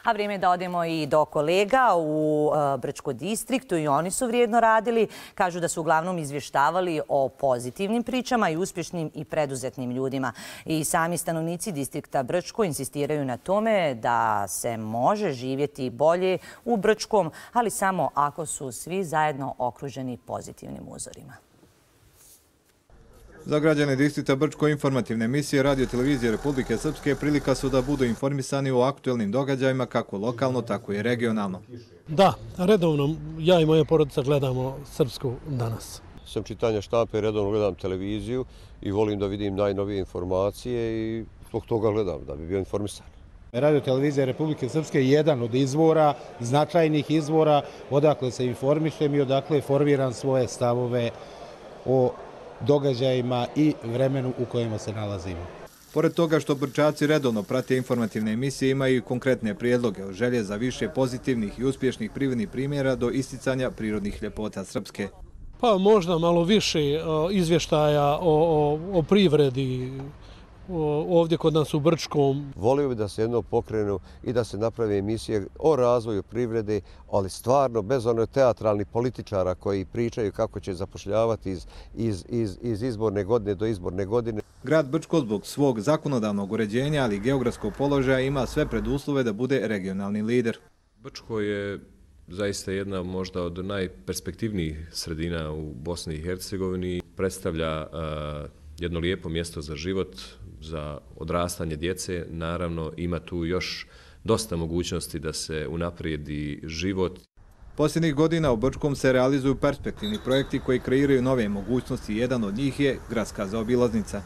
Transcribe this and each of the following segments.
A vrijeme je da odemo i do kolega u Brčko distriktu i oni su vrijedno radili. Kažu da su uglavnom izvještavali o pozitivnim pričama i uspješnim i preduzetnim ljudima. I sami stanovnici distrikta Brčko insistiraju na tome da se može živjeti bolje u Brčkom, ali samo ako su svi zajedno okruženi pozitivnim uzorima. Za građane distrikta Brčko informativne emisije Radio televizije Republike Srpske prilika su da budu informisani o aktuelnim događajima kako lokalno, tako i regionalno. Da, redovno ja i moja porodica gledamo Srpsku danas. Sam čitanja štampe, redovno gledam televiziju i volim da vidim najnovije informacije i zbog toga gledam da bi bio informisan. Radio televizija Republike Srpske je jedan od izvora, značajnih izvora, odakle se informišem i odakle formiram svoje stavove o događajima i vremenu u kojima se nalazimo. Pored toga što Brčaci redovno prate informativne emisije, imaju i konkretne prijedloge od želje za više pozitivnih i uspješnih privrednih primjera do isticanja prirodnih ljepota Srpske. Pa možda malo više izvještaja o privredi ovdje kod nas u Brčkom. Volio bi da se jedno pokrenu i da se napravi emisije o razvoju privrede, ali stvarno bez onih teatralnih političara koji pričaju kako će zapošljavati iz izborne godine do izborne godine. Grad Brčko zbog svog zakonodavnog uređenja, ali i geografskog položaja ima sve preduslove da bude regionalni lider. Brčko je zaista jedna možda od najperspektivnijih sredina u Bosni i Hercegovini. Predstavlja jedno lijepo mjesto za život, za odrastanje djece. Naravno, ima tu još dosta mogućnosti da se unaprijedi život. Posljednjih godina u Brčkom se realizuju perspektivni projekti koji kreiraju nove mogućnosti. Jedan od njih je gradska zaobilaznica.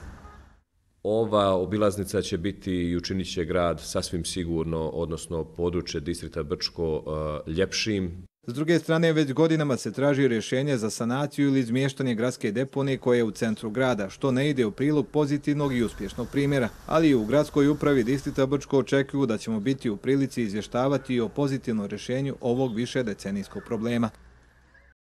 Ova obilaznica će biti i učinit će grad sasvim sigurno, odnosno područje distrikta Brčko, ljepšim. S druge strane, već godinama se traži rješenje za sanaciju ili izmještanje gradske deponije koje je u centru grada, što ne ide u prilog pozitivnog i uspješnog primjera. Ali i u gradskoj upravi distrikta Brčko očekuju da ćemo biti u prilici izvještavati o pozitivnom rješenju ovog višedecenijskog problema.